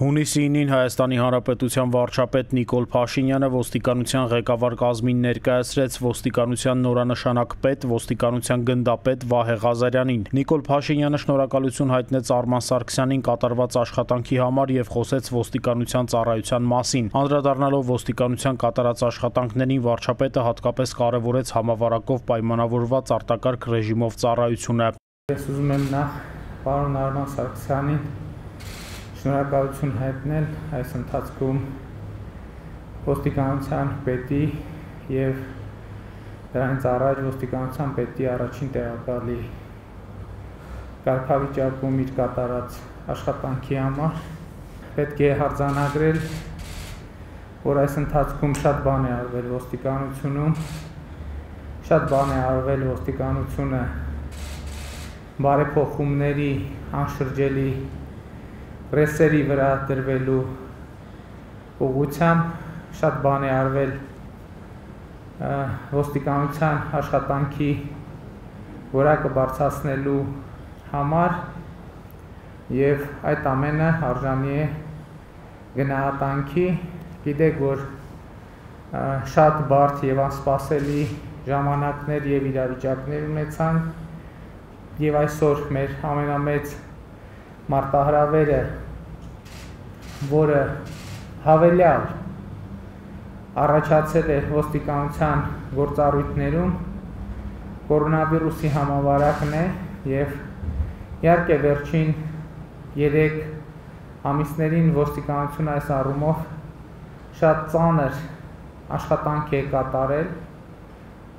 Հունիսի 9-ին Հայաստանի Հանրապետության վարչապետ Նիկոլ Փաշինյանը ոստիկանության ղեկավար կազմին ներկայացրեց ոստիկանության նորանշանակ պետ, ոստիկանության գնդապետ Վահե Ղազարյանին։ Նիկոլ Փաշինյանը շնորհակալություն հայտնեց Արման Սարգսյանին կատարված աշխատանքի համար եւ խոսեց ոստիկանության ծառայության մասին։ Անդրադառնալով ոստիկանության կատարած աշխատանքներին, վարչապետը հատկապես կարևորեց համավարակով պայմանավորված արտակարգ ռեժիմով ծառայությունը։ Ես ուզում եմ նախ պարոն Արման Սարգսյանին շնորհակալություն հայտնել այս ընթացքում ոստիկանության պետի եւ դրանից առաջ ոստիկանության պետի առաջին տեղակալի կարգավիճակում իր կատարած աշխատանքի համար։ Պետք է արձանագրել, որ այս ընթացքում շատ բան է արվել ոստիկանությունում, շատ բան է արվել ոստիկանությունը բարեփոխումների անշրջելի ռեսերի վրա դրվելու ուղղությամբ, շատ բան է արվել ոստիկանության աշխատանքի որակը բարձրացնելու համար եւ այդ ամենը արժանի է գնահատանքի։ Գիտեք, որ շատ բարդ եւ անսպասելի ժամանակներ եւ իրավիճակներ ունեցան եւ այսօր մեր ամենամեծ մարտահրավերը, որը հավելյալ առաջացել է ոստիկանության գործառույթներում, կորոնավիրուսի համավարակն է եւ իհարկե վերջին 3 ամիսներին ոստիկանությունը այս առումով շատ ծանր աշխատանք է կատարել,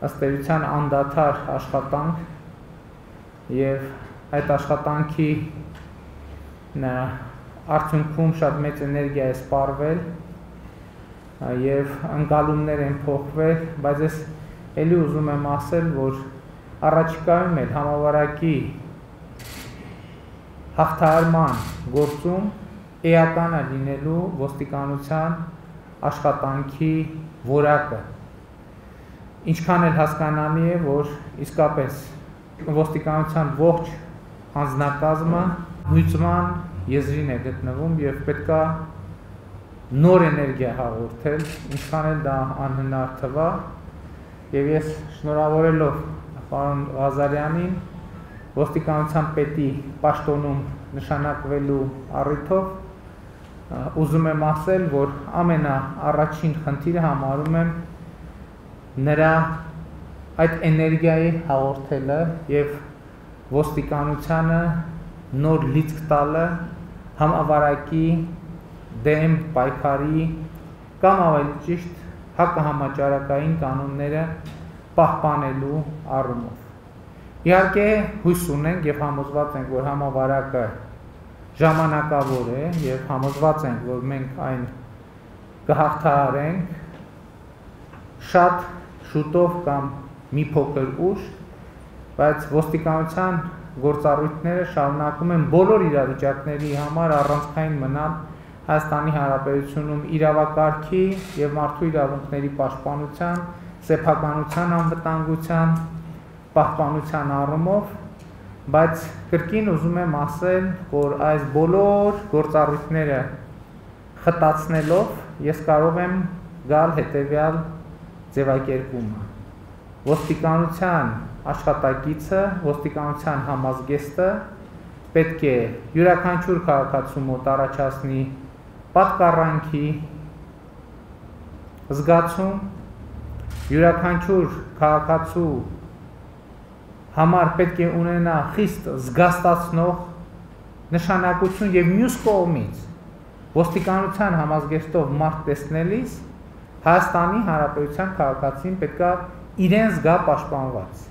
ըստ էության անդադար աշխատանք եւ այդ աշխատանքի արդյունքում շատ մեծ էներգիա է սպառվել եւ ընկալումներ են փոխվել, բայց ես ելի ուզում եմ ասել, որ առաջիկայում էլ համավարակի հաղթահարման գործում էական է լինելու ոստիկանության աշխատանքի որակը։ Ինչքան էլ հասկանալի է, որ իսկապես ոստիկանության ողջ անձնակազմը հույծման եզրին է գտնվում եւ պետքա նոր էներգիա հաղորդել, ինչքան էլ դա անհնար թվա, եւ ես շնորհավորելով պարոն Ղազարյանին ոստիկանության պետի պաշտոնում նշանակվելու առիթով ուզում եմ ասել, որ ամենաառաջին խնդիրը համարում եմ նրա այդ էներգիայի հաղորդելը եւ ոստիկանությանը նոր լիցք տալը համավարակի դեմ պայքարի կամ ավելի ճիշտ հակահամաճարակային կանոնները պահպանելու առումով։ Իհարկե հույս ունենք եւ համոզված ենք, որ համավարակը ժամանակավոր է եւ համոզված ենք, որ մենք այն կհաղթահարենք շատ շուտով կամ մի փոքր ուշ, բայց ոստիկանության գործառույթները շարունակում են բոլոր իրավիճակների համար առանցքային մնալ Հայաստանի Հանրապետությունում իրավակարգի եւ մարդու իրավունքների պաշտպանության, սեփականության անվտանգության պահպանության առումով, բայց կրկին ուզում եմ ասել, որ այս բոլոր գործառույթները խտացնելով ես կարող եմ գալ հետեւյալ ձևակերպումը։ Ոստիկանության աշխատակիցը, ոստիկանության համազգեստը պետք է յուրաքանչյուր քաղաքացու մոտ առաջացնի պատկառանքի զգացում, յուրաքանչյուր քաղաքացու համար պետք է ունենա խիստ զգաստացնող նշանակություն եւ մյուս կողմից ոստիկանության համազգեստով մարդ տեսնելիս Հայաստանի Հանրապետության քաղաքացին պետք է իրեն զգա պաշտպանված։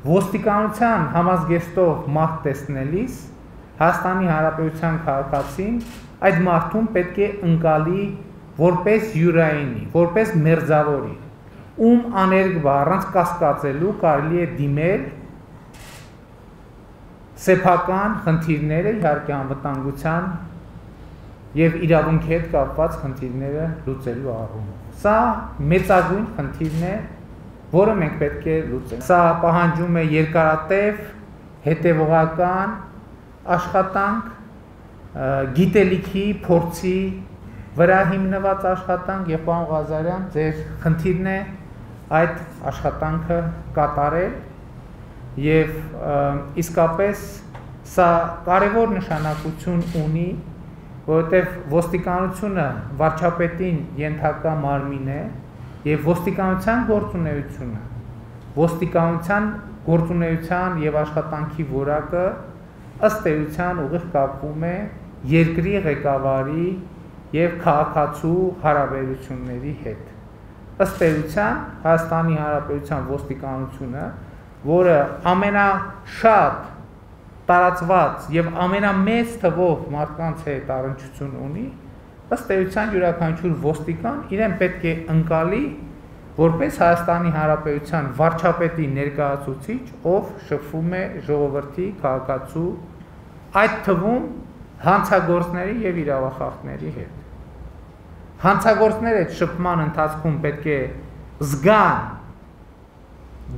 Ոստիկանության համազգեստով մարդ տեսնելիս Հայաստանի Հանրապետության քաղաքացին այդ մարդուն պետք է ընկալի որպես յուրայինի, որպես մերձավորի, ում աներկբա առանց կասկածելու կարելի է դիմել սեփական խնդիրները, իհարկե անվտանգության եւ իրավունքի հետ կապված խնդիրները լուծելու առումով։ Սա մեծագույն խնդիրն է, որը մենք պետք է լուծենք։ Սա պահանջում է երկարատև, հետևողական աշխատանք, գիտելիքի, փորձի վրա հիմնված աշխատանք եւ պարոն Ղազարյան, ձեր խնդիրն է այդ աշխատանքը կատարել եւ իսկապես սա կարևոր նշանակություն ունի, որովհետեւ ոստիկանությունը վարչապետին ենթակա մարմին է եւ ոստիկանության գործունեության եւ աշխատանքի որակը ըստ էության ուղիղ կապվում է երկրի ղեկավարի եւ քաղաքացու հարաբերությունների հետ։ Ըստ էության Հայաստանի Հանրապետության ոստիկանությունը, որը ամենաշատ տարածված եւ ամենամեծ թվով մարդկանց հետ առնչություն ունի, ըստ էության յուրաքանչյուր ոստիկան իրեն պետք է ընկալի որպես Հայաստանի Հանրապետության վարչապետի ներկայացուցիչ, ով շփվում է ժողովրդի, քաղաքացու, այդ թվում հանցագործների եւ իրավախախտների հետ։ Հանցագործները այդ շփման ընթացքում պետք է զգան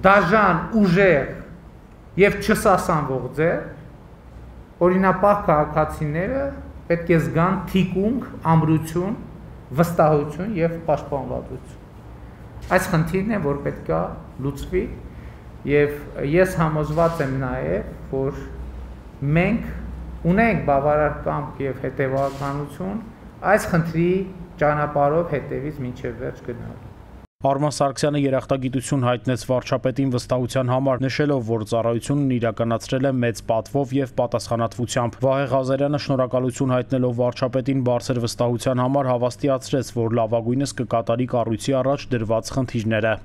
դաժան, ուժեղ եւ չսասանվող ձեռ, օրինապահ քաղաքացիները պետք է զգան թիկունք, ամրություն, վստահություն եւ պաշտպանվածություն։ Այս խնդիրն է, որ պետք է լուծվի եւ ես համոզված եմ նաեւ, որ մենք ունենք բավարար կամք եւ հետեւականություն այս խնդրի ճանապարհով հետևից մինչև վերջ գնալու։ Արման Սարգսյանը երախտագիտություն հայտնեց վարչապետին վստահության համար, նշելով, որ ծառայությունն իրականացրել է մեծ պատվով եւ պատասխանատվությամբ։ Վահե Ղազարյանը շնորհակալություն հայտնելով վարչապետին բարձր վստահության համար հավաստիացրեց, որ լավագույնս կկատարի կառույցի առաջ դրված խնդիրները։